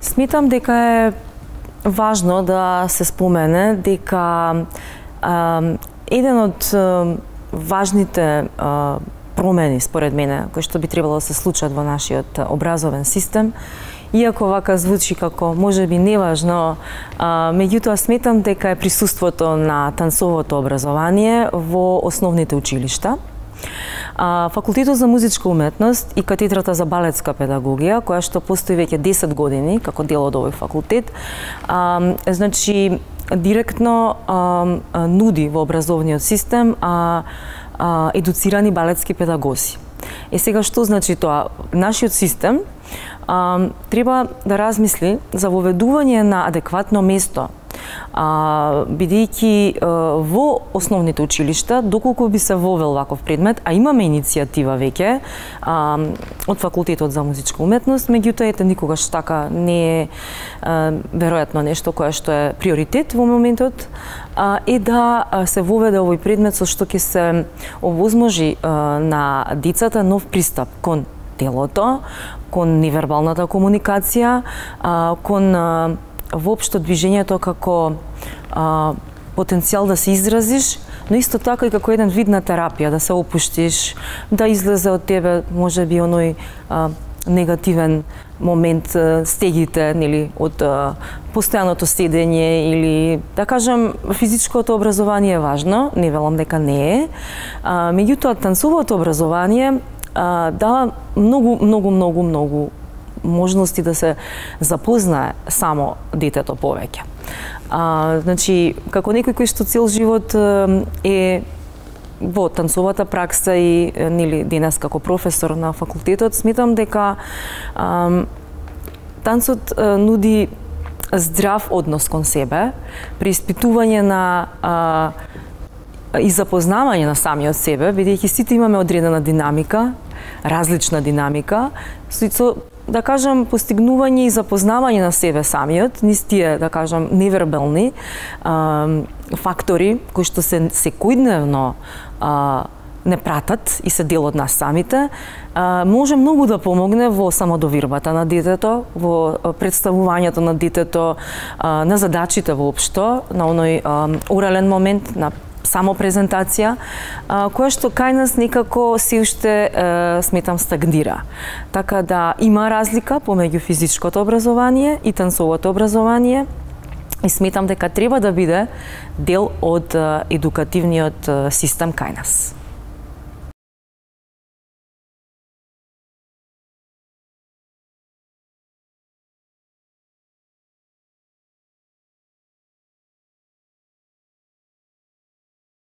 Сметам дека е важно да се спомене дека еден од важните промени според мене кои што би требало да се случат во нашиот образовен систем, иако вака звучи како можеби неважно, меѓутоа сметам дека е присуството на тансовото образование во основните училишта. Факултетот за музичка уметност и катедрата за балетска педагогија, која што постои веќе 10 години како дел од овој факултет, значи директно нуди во образовниот систем едуцирани балетски педагози. Сега што значи тоа? Нашиот систем треба да размисли за воведување на адекватно место, бидејќи во основните училишта, доколку би се вовел ваков предмет, а имаме иницијатива веќе од факултетот за музичка уметност, меѓутоа ете никогаш така не е веројатно нешто кое што е приоритет во моментот, е да се воведе овој предмет со што ќе се овозможи на децата нов пристап кон телото, кон невербалната комуникација, кон воопшто движењето како потенцијал да се изразиш, но исто така и како еден вид на терапија, да се опуштиш, да излезе од тебе можеби оној негативен момент, стегите, нели, од постојаното седење или, да кажам, физичкото образование е важно, не велам дека не е, меѓутоа тансовото образование дава многу можности да се запознае само детето повеќе. Значи, како некој кој што цел живот е во тансовата пракса и нели денес како професор на факултетот, сметам дека тансот нуди здрав однос кон себе, преиспитување на и запознавање на самиот себе, бидејќи сите имаме одредена динамика, различна динамика, со да кажам, постигнување и запознавање на себе самиот, низ тие, да кажам, невербални фактори кои што се секојдневно не пратат и се дел од нас самите, може многу да помогне во самодовирбата на детето, во представувањето на детето, на задачите воопшто, на оној орален момент, на само презентација, која што кај нас некако се уште сметам стагнира. Така да има разлика помеѓу физичкото образование и тансовото образование и сметам дека треба да биде дел од едукативниот систем кај нас.